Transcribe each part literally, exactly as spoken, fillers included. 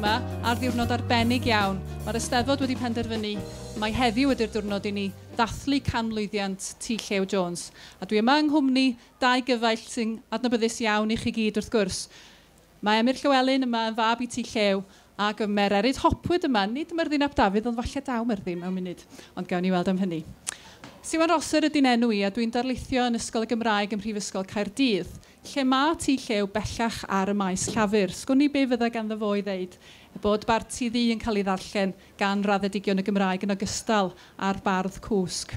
yma ar ddiwrnod arbennig iawn. Mae'r Eisteddfod wedi penderfynu mai heddiw ydy'r diwrnod i ni ddathlu canmlwyddiant T Llew Jones. A dwi yma yng nghwmni dau gyfaill sy'n adnabyddus iawn i chi gyd wrth gwrs. Mae Emyr Llywelyn yma yn fab i T Llew ac Mererid Hopwood yma, nid Myrddin ap Dafydd, ond falle daw Myrddin mewn munud, ond gawn ni weld am hynny. Siwan Rosser ydy'n enw i a dwi'n darlithio yn Ysgol y Gymraeg ym Mhrifysgol Caerdydd, lle mae T Llew bellach ar y maes llafur. Sgwn i be fydda ganddo fo i ddeud bod Barti Ddu yn cael ei ddarllen gan raddedigion y Gymraeg yn ogystal â'r bardd cwsg.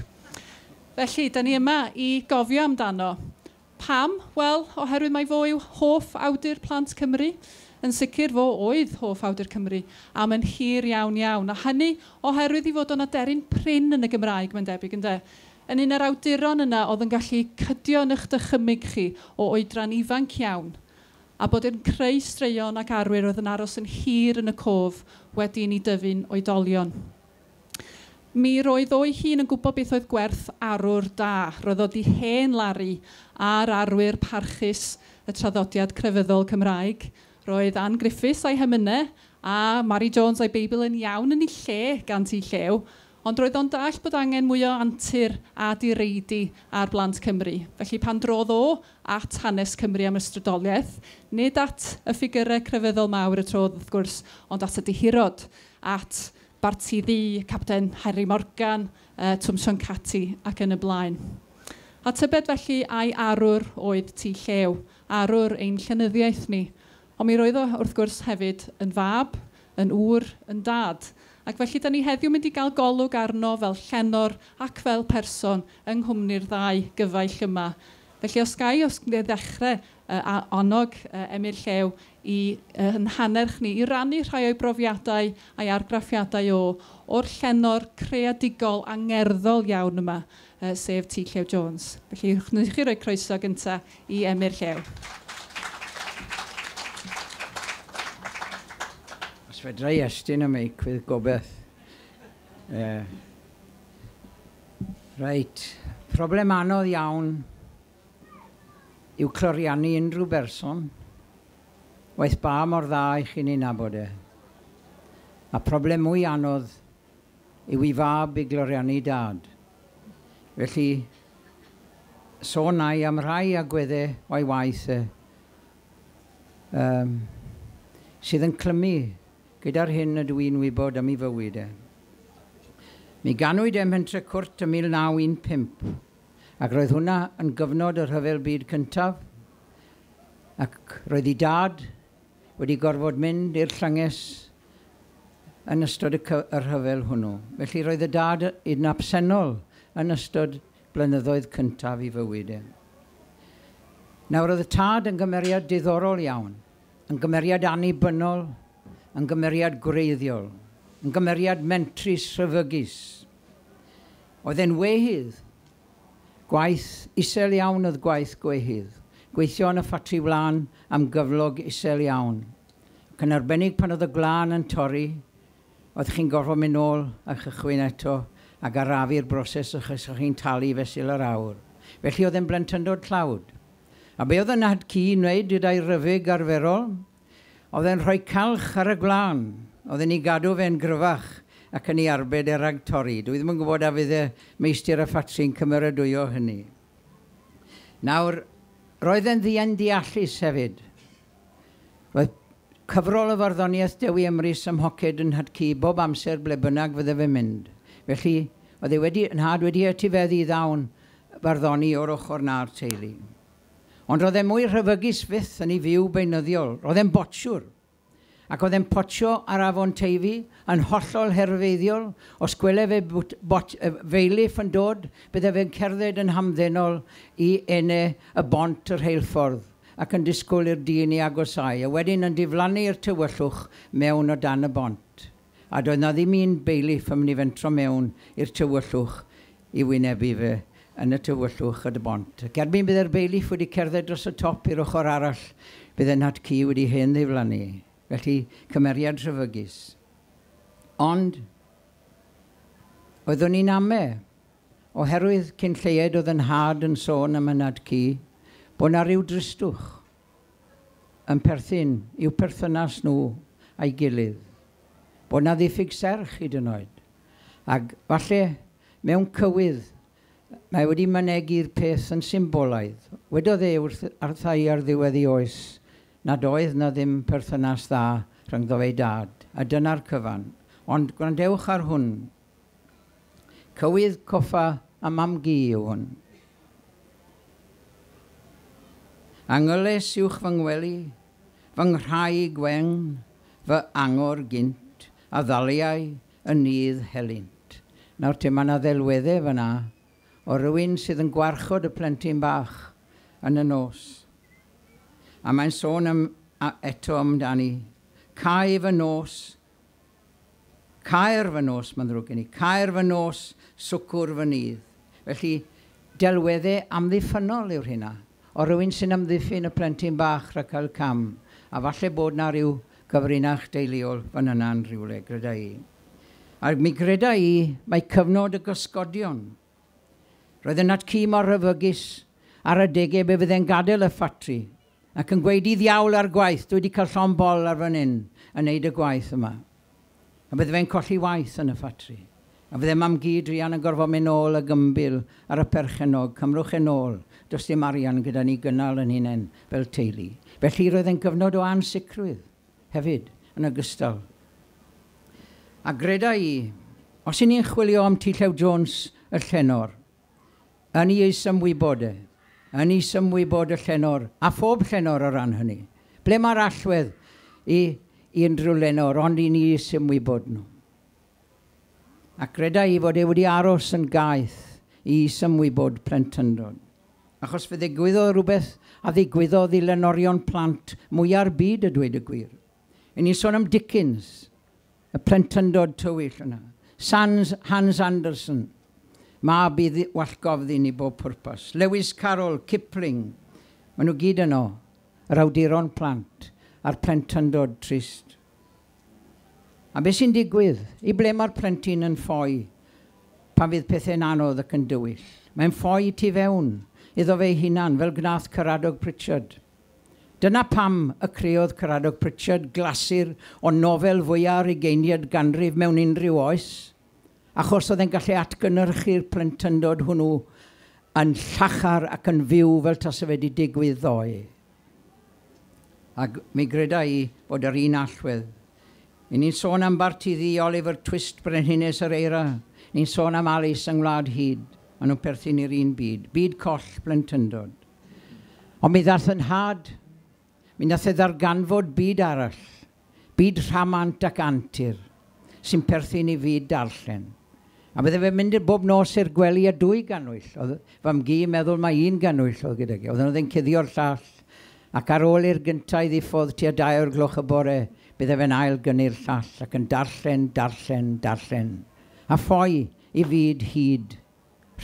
Felly, da ni yma i gofio amdano. Pam? Wel, oherwydd mai fo yw hoff awdur plant Cymru. Yn sicr fo oedd hoff awdur Cymru am yn hir iawn iawn. A hynny oherwydd i fod o'n aderyn prin yn y Gymraeg, mae'n debyg, ynde? Yn un o'r awduron yna oedd yn gallu cydio yn eich dychymyg chi o oedran ifanc iawn a bod yn creu straeon ac arwyr oedd yn aros yn hir yn y cof wedi i ni dyfu'n oedolion. Mi roedd o'i hun yn gwybod beth oedd gwerth arwr da. Roedd o di hen laru ar arwyr parchus y traddodiad crefyddol Cymraeg. Roedd Ann Griffiths a'i hemynau a Mary Jones a'i Beibl yn iawn yn ei lle gan T Llew, ond roedd o'n dall bod angen mwy o antur a direidi ar blant Cymru. Felly pan drodd o at hanes Cymru am ysbrydoliaeth, nid at y ffigurau crefyddol mawr y trodd wrth gwrs, ond at y dihirod, at Barti Ddu, Capten Harry Morgan, uh, Twm Sion Cati ac yn y blaen. A tybed felly ai arwr oedd T Llew, arwr ein llenyddiaeth ni. Ond mi roedd o wrth gwrs hefyd yn fab, yn ŵr, yn dad. Ac felly da ni heddiw mynd i gael golwg arno fel llenor ac fel person yng nghwmni'r ddau gyfaill yma. Felly os ga i, os ddechrau uh, annog uh, Emyr Llew i uh, yn hannerch ni i rannu rhai o'i brofiadau a'i argraffiadau o o'r llenor creadigol angerddol iawn yma, uh, sef T Llew Jones. Felly wnewch chi roi croeso gyntaf i Emyr Llew. Os fedra i estyn y meic fydd gobeith. Uh, reit, problem anodd iawn yw cloriannu unrhyw berson, waeth ba mor dda i chi'n ei nabod e. A problem mwy anodd yw i fab i gloriannu dad. Felly, sôn i am rai agweddau o'i waith e, um, sydd yn clymu gyda'r hyn ydw i'n wybod am ei fywyd e. Mi ganwyd e ym Mhentre Cwrt ym mil naw un pump, ac roedd hwnna yn gyfnod y Rhyfel Byd Cyntaf, ac roedd ei dad wedi gorfod mynd i'r llynges yn ystod y, y rhyfel hwnnw. Felly roedd y dad yn absennol yn ystod blynyddoedd cyntaf i fywyd e. Nawr roedd y tad yn gymeriad diddorol iawn, yn gymeriad annibynnol, yn gymeriad gwreiddiol, yn gymeriad mentrus rhyfygus. Oedd e'n wehydd. Gwaith isel iawn oedd gwaith gwehydd. Gweithio yn y ffatri wlân am gyflog isel iawn. Ac yn arbennig pan oedd y gwlân yn torri, oedd chi'n gorfod mynd nôl a chychwyn eto ac arafu'r broses achos o'ch chi'n talu fesul yr awr. Felly oedd e'n blentyndod tlawd. A be oedd y nhad ci'n wneud gyda'i ryfyg arferol? Oedd e'n rhoi calch ar y gwlân. Oedd e'n ei gadw fe'n gryfach ac yn ei arbed e rhag torri. Dwi ddim yn gwybod a fydd y meistr y ffatri'n cymeradwyo hynny. Nawr, roedd e'n ddian deallus hefyd. Roedd cyfrol o farddoniaeth Dewi Emrys ym mhoced yn nhad-cu bob amser ble bynnag fydde fe'n mynd. Felly, oedd e wedi, nhad wedi etifeddu ddawn farddoni o'r ochr na'r teulu. Ond roedd e mwy rhyfygus fyth yn ei fyw beunyddiol. Roedd e'n botsiwr. Ac oedd e'n potsio ar afon Teifi yn hollol herfeiddiol. Os gwele fe bot, feiliff yn dod, bydde fe'n cerdded yn hamddenol i ene y bont yr rheilffordd ac yn disgwyl i'r dyn i agosau, a wedyn yn diflannu i'r tywyllwch mewn o dan y bont. A doedd na ddim un beiliff yn mynd i fentro mewn i'r tywyllwch i wynebu fe yn y tywyllwch y bont. Ac erbyn bydde'r beiliff wedi cerdded dros y top i'r ochr arall, bydde nhad-cu wedi hen ddiflannu. Felly, cymeriad rhyfygus. Ond, oeddwn i'n ame, oherwydd cyn lleied oedd yn nhad yn sôn am y nhad-cu, bod na ryw dristwch yn perthyn i'w perthynas nhw a'i gilydd. Bod na ddiffyg serch hyd yn oed. Ac falle mewn cywydd mae wedi mynegi'r peth yn symbolaidd. Wedodd e wrth wrtha i ar ddiwedd ei oes nad oedd na ddim perthynas dda rhyngddo fe'i dad, a dyna'r cyfan. Ond gwrandewch ar hwn. Cywydd coffa a mam-gu yw hwn. Angyles uwch fy ngwely, fy nghraig wen, fy angor gynt, a ddaliau y nydd helynt. Nawr te, mae yna ddelweddau fyna o rywun sydd yn gwarchod y plentyn bach yn y nos. A mae'n sôn am, a, eto amdani, cae fy nos, caer fy nos, mae'n ddrwg gen i, caer fy nos, swcwr fy nydd. Felly, delweddau amddiffynnol yw'r hynna, o rywun sy'n amddiffyn y plentyn bach rhag cael cam, a falle bod na ryw gyfrinach deuluol fan yna'n rhywle, greda i. A mi greda i, mae cyfnod y gysgodion. Roedd y nat-cu mor rhyfygus ar adegau be fydde'n gadael y ffatri ac yn gweud i ddiawl ar gwaith, dwi wedi cael llond bol ar fan hyn yn neud y gwaith yma. A bydde fe'n colli waith yn y ffatri. A fydde mam-gu druan yn gorfod mynd nôl y gymbil ar y perchenog, cymrwch yn ôl, does dim arian gyda ni gynnal yn hunain fel teulu. Felly roedd e'n gyfnod o ansicrwydd hefyd yn ogystal. A greda i, os i ni'n chwilio am T Llew Jones y llenor, yn ei ymwybod e, yn ei ymwybod y llenor, a phob llenor o ran hynny. Ble mae'r allwedd i, i unrhyw lenor, ond i ni ymwybod nhw. A greda i fod e wedi aros yn gaeth i ymwybod plentyndod. Achos fe ddigwyddodd rhywbeth a ddigwyddodd i lenorion plant mwyar byd, a dweud y gwir. I ni'n sôn am Dickens, y plentyndod tywyll yna. Sans, Hans Andersen, mab i wallgofddyn i bob pwrpas. Lewis Carroll, Kipling, maen nhw gyd yno, yr awduron plant a'r plentyndod trist. A beth sy'n digwydd? I ble mae'r plentyn yn ffoi pan fydd pethau'n anodd ac yn dywyll? Mae'n ffoi tu fewn iddo fe hunan, fel gnath Caradog Pritchard. Dyna pam y creodd Caradog Pritchard glasur o nofel fwyaf ugeiniad ganrif mewn unrhyw oes, achos oedd e'n gallu atgynhyrchu'r plentyndod hwnnw yn llachar ac yn fyw fel tase fe wedi digwydd ddoe. Ac mi greda i bod yr un allwedd. I ni'n sôn am Barti Ddu, Oliver Twist, Brenhines yr Eira. Ni'n sôn am Alice yng Ngwlad Hud. Maen nhw'n perthyn i'r un byd. Byd coll plentyndod. Ond mi ddath yn nhad, mi nath e ddarganfod byd arall. Byd rhamant ac antur, sy'n perthyn i fyd darllen. A bydde fe'n mynd bob nos i'r gwely a dwy ganwyll. Oedd fam-gu yn meddwl mai un ganwyll oedd gyda gi. Oedden nhw ddim cuddio'r llall. Ac ar ôl i'r gyntaf i ddiffodd tua dau o'r gloch y bore, bydde fe'n ail gynnu'r llall ac yn darllen, darllen, darllen. A ffoi i fyd hyd,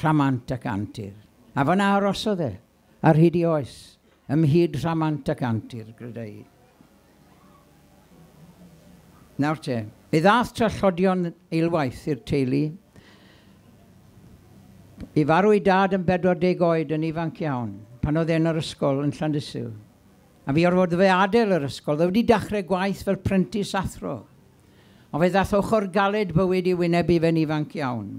rhamant ac antur. A fyna arosodd e, ar hyd i oes, ymhyd rhamant ac antur, greda i. Nawr te, mi ddath trallodion eilwaith i'r teulu. I farw ei dad yn bedwar deg oed yn ifanc iawn, pan oedd e'n yr ysgol yn Llandysul. A fi orfod fe adael yr ysgol, oedd wedi dechrau gwaith fel prentis athro. Ond fe ddath ochr galed bywyd i wynebu fe'n ifanc iawn.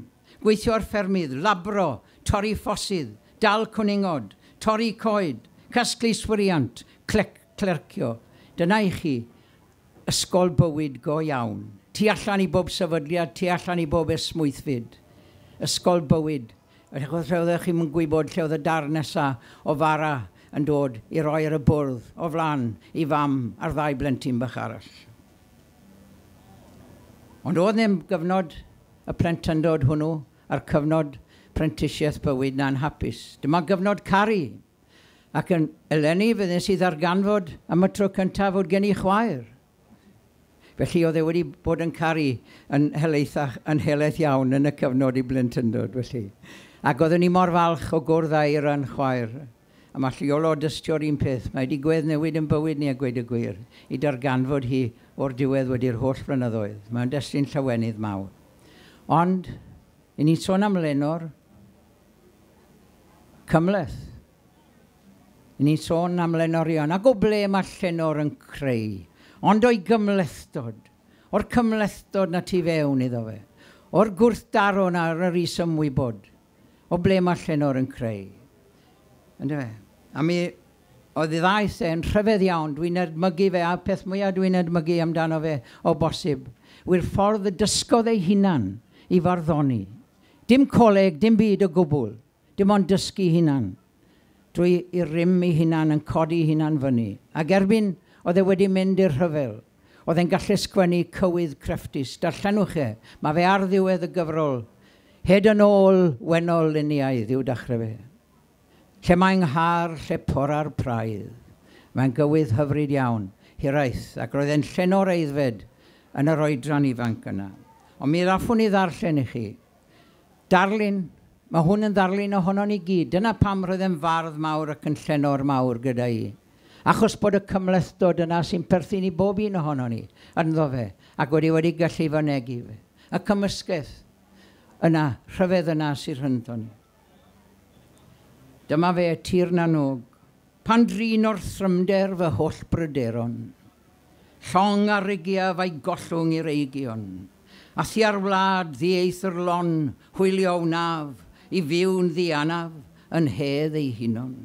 Gweithio ar ffermydd, labro, torri ffosydd, dal cwningod, torri coed, casglu swriant, clec, clercio. Dyna i chi ysgol bywyd go iawn. Tu allan i bob sefydliad, tu allan i bob esmwythfyd. Ysgol bywyd. Achos lle oeddech chi'n gwybod lle oedd y dar nesaf o fara yn dod i roi ar y bwrdd o flan i fam a'r ddau blentyn bach arall. Ond oedd ddim gyfnod y plentyndod hwnnw a'r cyfnod prentisiaeth bywyd na'n hapus. Dyma gyfnod caru. Ac yn eleni fe wnes i ddarganfod am y tro cyntaf fod gen i chwaer. Felly oedd e wedi bod yn caru yn helaethach, yn helaeth iawn yn y cyfnod i blentyndod. Felly. Ac oeddwn ni mor falch o gwrdd â Eira'n chwaer. A mae Iolo dystio'r un peth. Mae wedi gweddnewid yn bywyd ni a gweud y gwir, i darganfod hi o'r diwedd wedi'r holl flynyddoedd. Mae'n destun llawenydd mawr. Ond, i ni'n sôn am lenor, cymhleth. I ni'n sôn am lenorion. Ac o ble mae llenor yn creu? Ond o'i gymhlethdod, o'r cymhlethdod na tu fewn iddo fe, o'r gwrthdaro na ar yr is-ymwybod, o ble mae llenor yn creu. Yndyfe? A mi oedd ei ddaeth e'n rhyfedd iawn, dwi'n edmygu fe, a peth mwyaf dwi'n edmygu amdano fe o bosib, yw'r ffordd y dysgodd ei hunan i farddoni. Dim coleg, dim byd o gwbl, dim ond dysgu hunan. Drwy i rym ei hunan yn codi hunan fyny. Ac erbyn oedd e wedi mynd i'r rhyfel, oedd e'n gallu sgwennu cywydd crefftus. Darllenwch e, mae fe ar ddiwedd y gyfrol, hyd yn ôl wennol luniaidd i'w dechrau fe. Lle mae'n nghar, lle pora'r praidd. Mae'n gywydd hyfryd iawn, hiraeth, ac roedd e'n llenor aeddfed yn yr oedran ifanc yna. Ond mi ddaffwn i ddarllen i chi. Darlun, mae hwn yn ddarlun ohono ni gyd. Dyna pam roedd e'n fardd mawr ac yn llenor mawr gyda i. Achos bod y cymhlethdod yna sy'n perthyn i bob un ohono ni ynddo fe, ac wedi wedi gallu fynegi fe. Y cymysgedd yna, rhyfedd yna sy'n rhyngddo ni. Dyma fe, Tir na n-Og, pan drin o'r thrymder fy holl bryderon, llong a rigiaf a'i gollwng i'r eigion, a thua'r wlad ddieithr lon, hwylio wnaf, i fyw'n ddianaf, yn hedd ei hunon.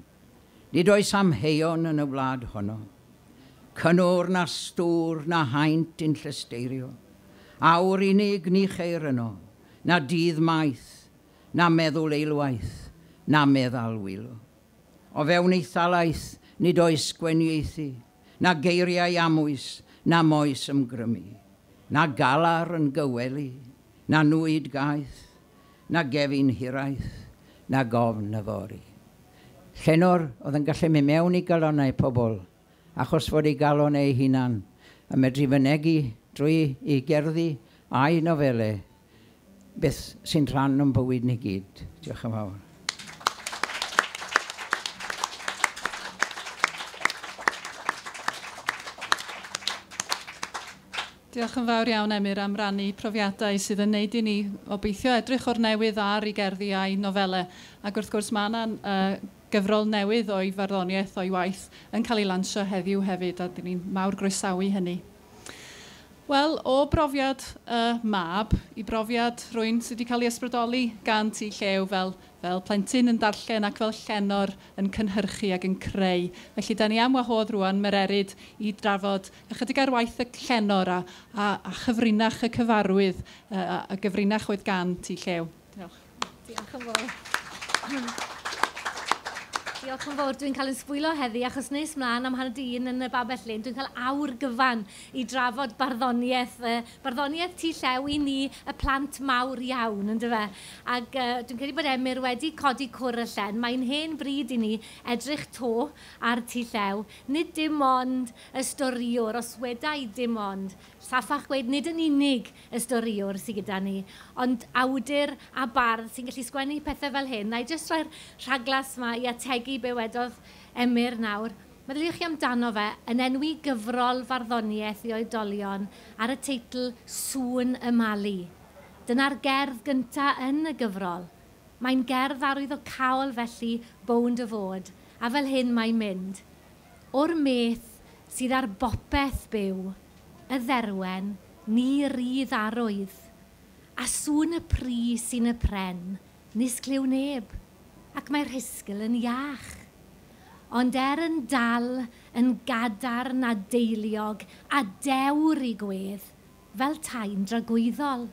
Nid oes amheuon yn y wlad honno, cynnwr na stŵr na haint yn llesteirio, awr unig ni cheir yno, na dydd maith, na meddwl eilwaith, na meddal wylo. O fewn ei thalaith nid oes gwenieithu, na geiriau amwys, na moes ymgrymu, na galar yn gywelu, na nwyd gaeth, na gefin hiraeth, na gofn yfory. Llenor oedd yn gallu mynd mewn i galonnau pobl, achos fod ei galon ei hunan yn medru fynegi drwy ei gerddi a'i nofelau beth sy'n rhan o'n bywyd ni gyd. Diolch yn fawr. Diolch yn fawr iawn, Emyr, am rannu profiadau sydd yn neud i ni obeithio edrych o'r newydd ar ei gerddi a'i nofelau. Ac wrth gwrs mae yna uh, gyfrol newydd o'i farddoniaeth o'i waith yn cael ei lansio heddiw hefyd, a dyn ni'n mawr groesawu hynny. Wel, o brofiad uh, mab i brofiad rhywun sydd wedi cael ei ysbrydoli gan T Llew fel, fel plentyn yn darllen ac fel llenor yn cynhyrchu ac yn creu. Felly, da ni am wahodd rwan Mererid i drafod ychydig ar waith y llenor a, a, a chyfrinach y cyfarwydd, uh, a gyfrinach oedd gan T Llew. Diolch. Diolch yn fawr. Diolch yn fawr. Dwi'n cael yn sbwylo heddi achos nes mlaen am hanner dyn yn y Babell Lên, dwi'n cael awr gyfan i drafod barddoniaeth, barddoniaeth T Llew i ni, y plant mawr iawn, yndyfe? Ac uh, dwi'n credu bod Emyr wedi codi cwr y llen. Mae'n hen bryd i ni edrych to ar T Llew. Nid dim ond y storïwr, os weda i dim ond, saffach gweud nid yn unig y storïwr sydd gyda ni, ond awdur a bardd sy'n gallu sgwennu pethau fel hyn. Na i jyst rhoi'r rhaglas yma i ategu be wedodd Emyr nawr. Meddyliwch chi amdano fe yn enwi gyfrol farddoniaeth i oedolion ar y teitl Sŵn y Mali. Dyna'r gerdd gyntaf yn y gyfrol. Mae'n gerdd arwyddocaol felly bownd y fod, a fel hyn mae'n mynd. O'r meth sydd ar bopeth byw, y dderwen, ni rydd arwydd, a sŵn y pri sy'n y pren, nis clyw neb, ac mae'r rhisgl yn iach. Ond er yn dal, yn gadarn a deiliog, a dewr i gwedd, fel tai'n dragwyddol.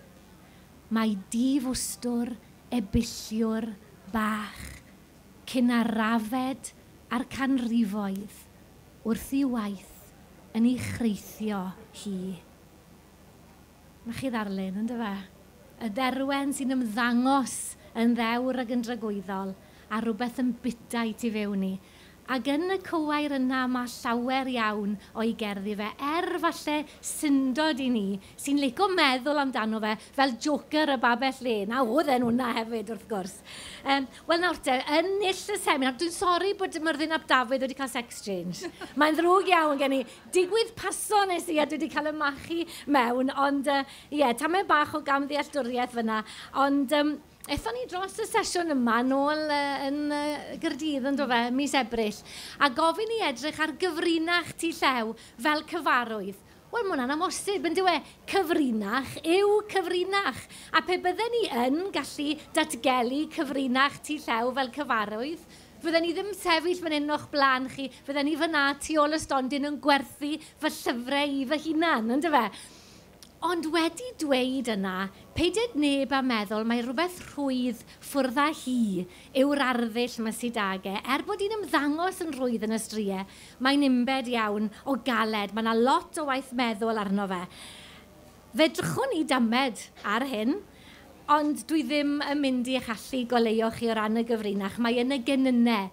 Mae difwstwr, ebilliwr, bach, cyn arafed a'r canrifoedd, wrth i waith yn ei chreithio hi. Na chi ddarlun, yndyfe? Y dderwen sy'n ymddangos yn ddewr ac yn dragwyddol, a rhywbeth yn bita i tu fewn i. Ac yn y cywair yna mae llawer iawn o'i gerddi fe, er falle syndod i ni, sy'n licio meddwl amdano fe fel Joker y Babell Lên, a oedd e'n hwnna hefyd wrth gwrs. Um, Wel nawr te, yn null y seminar, dwi'n sori bod Myrddin ap Dafydd wedi cael sex change. Mae'n ddrwg iawn gen i. Digwydd paso nes i a dwi wedi cael y machu mewn, ond ie, uh, yeah, tamed bach o gamddealltwriaeth fyna, ond um, Aethon ni dros y sesiwn yma nôl uh, yn uh, Gaerdydd yn do fe, mis Ebrill, a gofyn i edrych ar gyfrinach T Llew fel cyfarwydd. Wel, mae hwnna'n amhosib, yn dyw e? Cyfrinach yw cyfrinach. A pe bydden ni yn gallu datgelu cyfrinach T Llew fel cyfarwydd, fydden ni ddim sefyll fan hyn o'ch blaen chi, fydden ni fyna tu ôl y stondin yn gwerthu fy llyfrau i fy hunan, yn dyfe? Ond wedi dweud yna, peidied neb a meddwl mae rhywbeth rhwydd ffwrdd â hi yw'r arddull yma sydd ag e. Er bod hi'n ymddangos yn rhwydd yn y striau, mae'n unbed iawn o galed. Mae yna lot o waith meddwl arno fe. Fe drychwn ni damed ar hyn, ond dwi ddim yn mynd i eich allu goleuo chi o ran y gyfrinach. Mae yn y genynnau.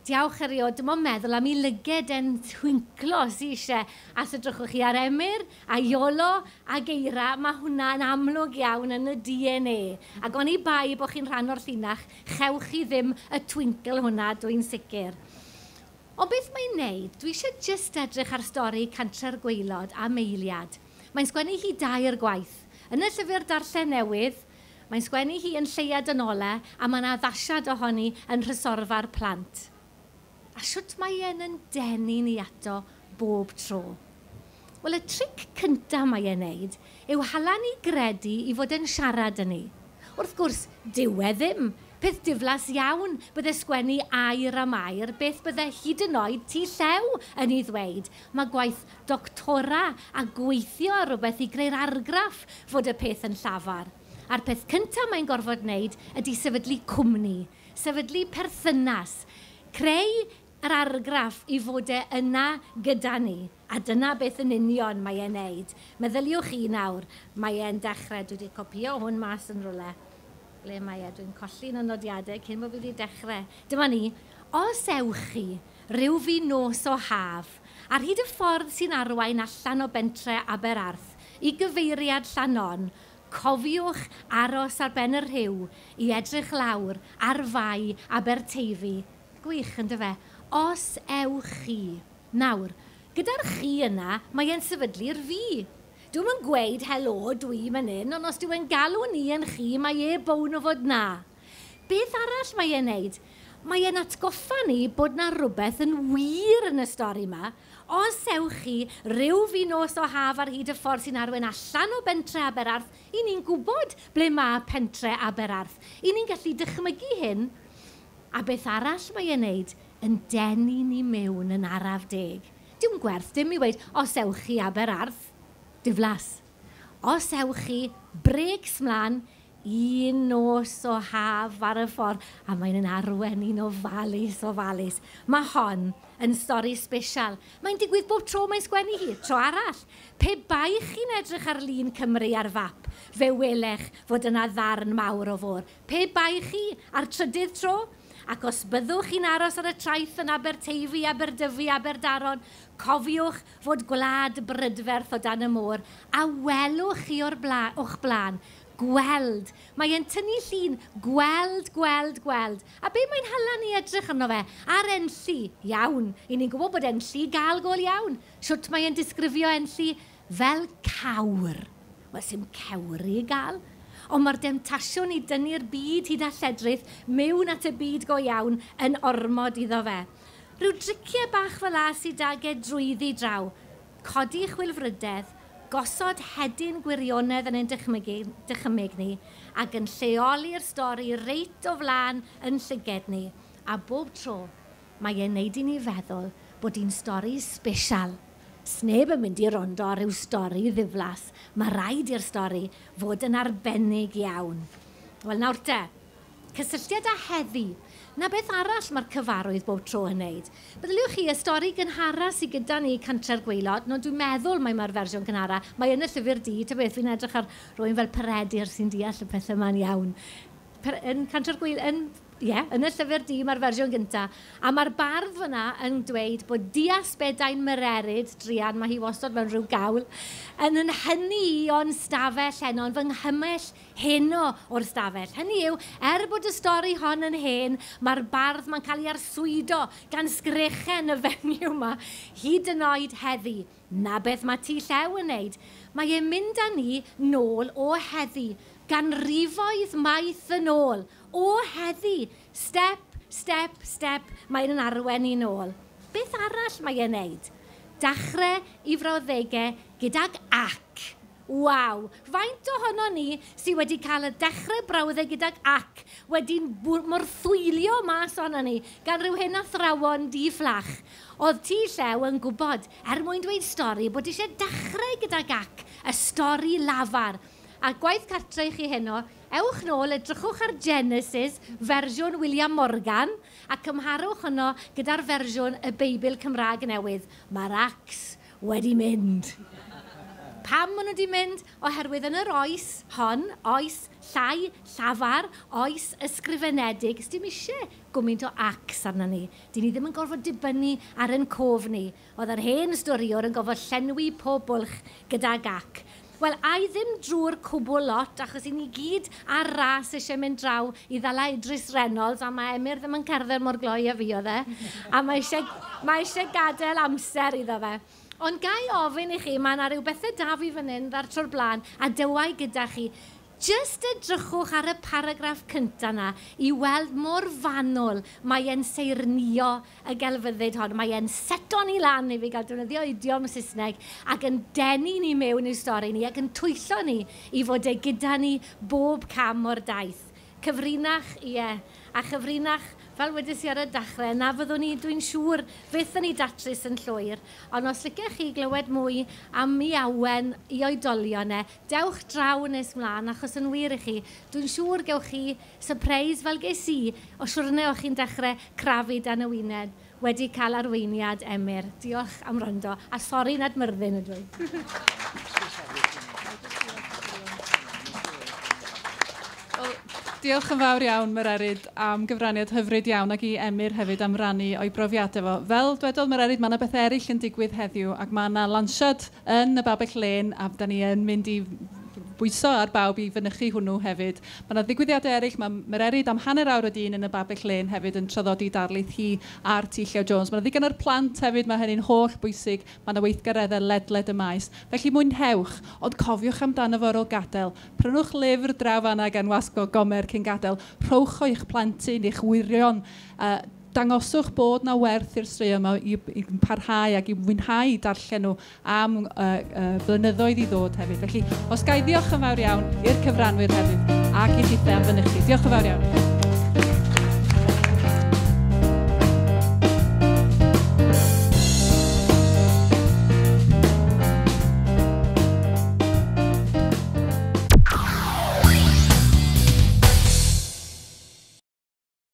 Diawch erioed, dim ond meddwl am ei lyged e'n twinklo sy eisiau. A os edrychwch chi ar Emyr, a Iolo, a Geira, mae hwnna'n amlwg iawn yn y D N A. Ac oni bai bod chi'n rhan o'r llinach, chewch chi ddim y twinkle hwnna, dwi'n sicr. Ond beth mae'n neud? Dwi eisiau jyst edrych ar stori Cantre'r Gwaelod a Meiliad. Mae'n sgwennu hi dair gwaith. Yn y llyfr darllen newydd, mae'n sgwennu hi yn Lleuad yn Ole, a mae'n addasiad ohoni yn Nhrysorfa'r Plant. A shwt mae e'n yn denu ni ato bob tro? Wel, y tric cyntaf mae e'n neud yw hala ni gredu i fod yn siarad yn ni. Wrth gwrs, dyw e ddim. Peth diflas iawn bydde sgwennu air am air, beth bydde hyd yn oed T Llew yn ei ddweud. Mae gwaith doctora a gweithio ar rhywbeth i greu'r argraff fod y peth yn llafar. A'r peth cyntaf mae'n gorfod wneud ydy sefydlu cwmni, sefydlu perthynas, creu yr argraff i fod e yna gyda ni. A dyna beth yn union mae e'n neud. Meddyliwch chi nawr, mae e'n dechrau. Dwi wedi copio hwn mas yn rhywle. Ble mae e? Dwi'n colli'n y nodiadau cyn bod fi wedi dechrau. Dyma ni. Os ewch chi ryw fi nos o haf, ar hyd y ffordd sy'n arwain allan o bentre Aberarth i gyfeiriad Llanon, cofiwch aros ar ben y rhiw i edrych lawr ar fai Aberteifi. Gwych, yn dyfe? Os ewch chi. Nawr, gyda'r chi yna, mae e'n sefydlu'r fi. Dwi'm yn gweud helo dwi fan hyn, ond os dwi'n galw ni yn chi, mae e bown o fod na. Beth arall mae e'n neud? Mae e'n atgoffa ni bod na rhywbeth yn wir yn y stori yma. Os ewch chi ryw fi nos o haf ar hyd y ffordd sy'n arwain allan o bentre Aberarth, i ni'n gwybod ble mae pentre Aberarth. I ni'n gallu dychmygu hyn. A beth arall mae e'n neud yn denu ni mewn yn araf deg. Dim gwerth, dim i weud, os ewch chi Aberarth, diflas. Os ewch chi, breaks mlaen, un nos o haf ar y ffordd, a mae'n yn arwen un ofalus, ofalus. Mae hon yn stori special. Mae'n digwydd bob tro mae'n sgwennu hi, tro arall. Pe bai chi'n edrych ar lun Cymru ar fap, fe welech fod yna ddarn mawr o fôr. Pe bai chi ar trydydd tro, ac os byddwch chi'n aros ar y traeth yn Aberteifi, Aberdyfi, Aberdaron, cofiwch fod gwlad brydferth o dan y môr, a welwch chi o'r bla, o'ch blaen. Gweld. Mae e'n tynnu llun. Gweld, gweld, gweld. A be mae'n hala ni edrych arno fe? Ar Enlli. Iawn. I ni'n gwybod bod Enlli gael gol iawn. Shwt mae e'n disgrifio Enlli? Fel cawr. Wel, sy'm cewri i gael. Ond mae'r demtasiwn i dynnu'r byd hyd a lledrith mewn at y byd go iawn yn ormod iddo fe. Rhyw driciau bach fel a sydd ag e drwyddi draw. Codi chwilfrydedd, gosod hedyn gwirionedd yn ein dychmygu, dychymyg ni ac yn lleoli'r stori reit o flaen yn llyged ni. A bob tro, mae e'n neud i ni feddwl bod hi'n stori special. Sneb yn mynd i rondo ar ryw stori ddiflas. Mae rhaid i'r stori fod yn arbennig iawn. Wel, nawr te, cysylltiad â heddi. Na beth arall mae'r cyfarwydd bob tro yn wneud. Meddyliwch chi, y stori gynhara sydd gyda ni Cantre'r Gwaelod, no dwi'n meddwl mai mae'r fersiwn gynhara, mae yn y llyfr du, ta beth, fi'n edrych ar rywun fel Peredur sy'n deall y pethau yma'n iawn. Per, yn Cantre'r Gwaelod, yn, ie, yn y llyfr du mae'r fersiwn gynta. A mae'r bardd fyna yn dweud bod dias bedain Mererid, druan, mae hi wastad mewn rhyw gawl, yn yn hynny i o'n stafell heno, yn fy nghymell heno o'r stafell. Hynny yw, er bod y stori hon yn hen, mae'r bardd mae'n cael ei arswydo gan sgrechen y fenyw yma, hyd yn oed heddi. Na beth mae T Llew yn wneud. Mae e'n mynd â ni nôl o heddi, ganrifoedd maith yn ôl, o heddi, step, step, step, mae'n yn arwen i nôl. Beth arall mae e'n wneud? Dachrau i frawddegau gydag ac. Waw! Faint ohono ni sydd wedi cael y dechrau brawddeg gydag ac wedi'n morthwylio mas ohono ni gan rhyw hen athrawon di-fflach. Oedd T Llew yn gwybod, er mwyn dweud stori, bod eisiau dechrau gydag ac, y stori lafar. A gwaith cartre i chi heno, ewch nôl, edrychwch ar Genesis, fersiwn William Morgan, a cymharwch hwnnw gyda'r fersiwn y Beibl Cymraeg newydd. Mae'r acs wedi mynd. Pam maen nhw wedi mynd? Oherwydd yn yr oes hon, oes llai llafar, oes ysgrifenedig, sdim eisiau gymaint o acs arna ni. Dyn ni ddim yn gorfod dibynnu ar ein cof ni. Oedd yr hen storiwr yn gorfod llenwi pob bwlch gydag ac. Wel, ai ddim drwy'r cwbl lot, achos i ni gyd ar ras eisiau mynd draw i ddala Idris Reynolds, a mae Emyr ddim yn cerdded mor gloi a fi oedd e, a mae eisiau, mae eisiau gadael amser iddo fe. Ond ga i ofyn i chi, mae yna rhyw bethau da fi fan hyn, ddar tro'r blaen, a dywai gyda chi. Jyst edrychwch ar y paragraff cyntaf yna i weld mor fanwl mae e'n seirnio y gelfyddyd hon. Mae e'n seto ni lan i fi gael defnyddio idiom Saesneg ac yn denu ni mewn i'r stori ni ac yn twyllo ni i fod e gyda ni bob cam o'r daith. Cyfrinach, ie, a chyfrinach, fel wedes i ar y dechrau, na fyddwn ni, dwi'n siŵr, fydd yn ei datrys yn llwyr. Ond os licech chi glywed mwy am ei awen i oedolion e, dewch draw nes mlaen, achos yn wir i chi, dwi'n siŵr gewch chi surprise fel ges i, o siwrne o'ch chi'n dechrau crafu dan y wyneb wedi cael arweiniad Emyr. Diolch am rondo, a sori nad Myrddin ydw i. Diolch yn fawr iawn, Mererid, am gyfraniad hyfryd iawn ac i Emyr hefyd am rannu o'i brofiadau fo. Fel dwedodd Mererid, mae yna beth eraill yn digwydd heddiw ac mae yna lansiad yn y Babell Lên a da ni yn mynd i bwyso ar bawb i fynychu hwnnw hefyd. Mae yna ddigwyddiadau eraill, mae Mererid am hanner awr o dyn yn y Babell Lên hefyd yn traddodi darlith hi ar T Llew Jones. Mae yna ddigon o'r plant hefyd, mae hynny'n holl bwysig, mae yna weithgareddau ledled y maes. Felly mwynhewch, ond cofiwch amdano fo ar ôl gadael. Prynwch lyfr draw fan'na gan Wasg Gomer cyn gadael. Rhowch o i'ch plentyn, i'ch wyrion. Uh, Dangoswch bod na werth i'r straeon yma i, i parhau ac i mwynhau darllen nhw am uh, uh, blynyddoedd i ddod hefyd. Felly, os ga i ddiolch yn fawr iawn i'r cyfranwyr hefyd ac i chithau am fynychu. Diolch yn fawr iawn.